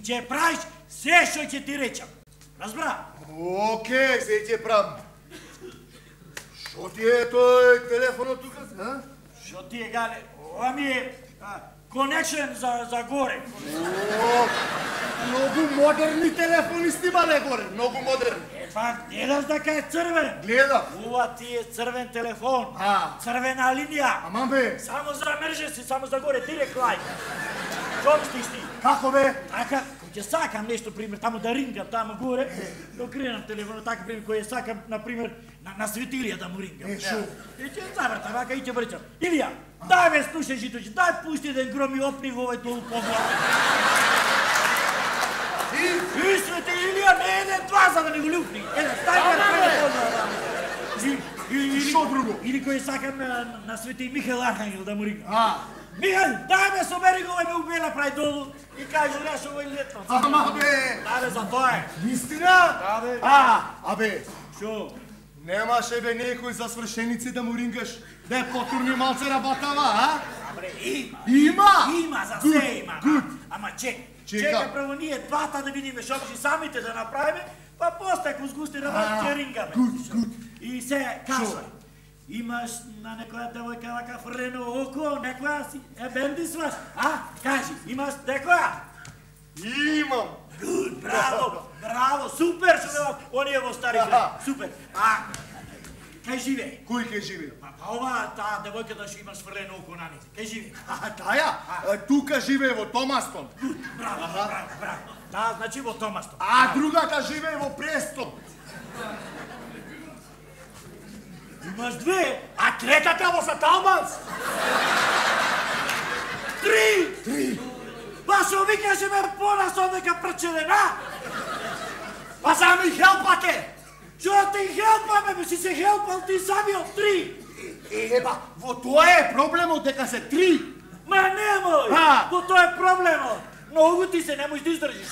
Ќе правиш се што ќе ти речам. Разбра? Океј, се ќе правам. Шо ти е тој телефонот тука? Шо ти е, Гале? Ова ми е конечен за горе. Многу модерни телефони снимале горе, многу модерни. Па, гледаш дека е црвен? Гледам. Ова ти е црвен телефон. Црвена линија. Аман бе. Само за emergency, само за горе, директ лајн. Шо стиш ти? Како бе? Така, ќе сакам нешто, пример, таму да рингам, таму горе, да окренам телефонот, така, пример, кој сакам, например, на светилија да му рингам. Шо? И ќе завртам, вака и ќе врчам. Илија, дај ме слушај житојче, дај пушти еден гром и опни во овој долу поглед. Свете, Илија, не еден два за да не го люпни. Еден, дај ме телефон. Шо друго? Или кој сакам на Свети Михаил Архангел да му рингам. Михаил, дај ме собери го, ме убела прај долу и кажи нешто овој летно. Ама бе! Да бе, за тоа е. Вистина? Да бе. Абе, Шо? немаше бе некој за свршеници да му рингаш, да е потурни малце работава, а? Абре, има. Има? Има, за се има. Гуд. Ама чекай. Чека. Чекай прво ние двата да видиме шо ќе самите да направиме, па после ако сгусти работа ќе рингаме. Гуд. И се кажувај. Имаш на некоја девојка вака фрлено око, некоја си бендисваш, Кажи, имаш некоја? Имам. Гуд, браво, супер што ме оние во старите, супер. Кај живее? Кој ке живее? Па ова, таа девојка да што имаш фрлено око на нејзе, кај живее? Таја? Тука живее во Томастон. Браво. Да, значи во Томастон. А другата живее во Престон. Имаш две, А третата во Саталманс. три. Па шо викаше ме понасо дека прчедена? Па за ми хелпате. Шо ти хелпаме, бе, си се хелпал ти самиот три. Еба, во тоа е проблемот дека се три. Ма немој, во тоа е проблемот. Многу ти се не можеш да издржиш,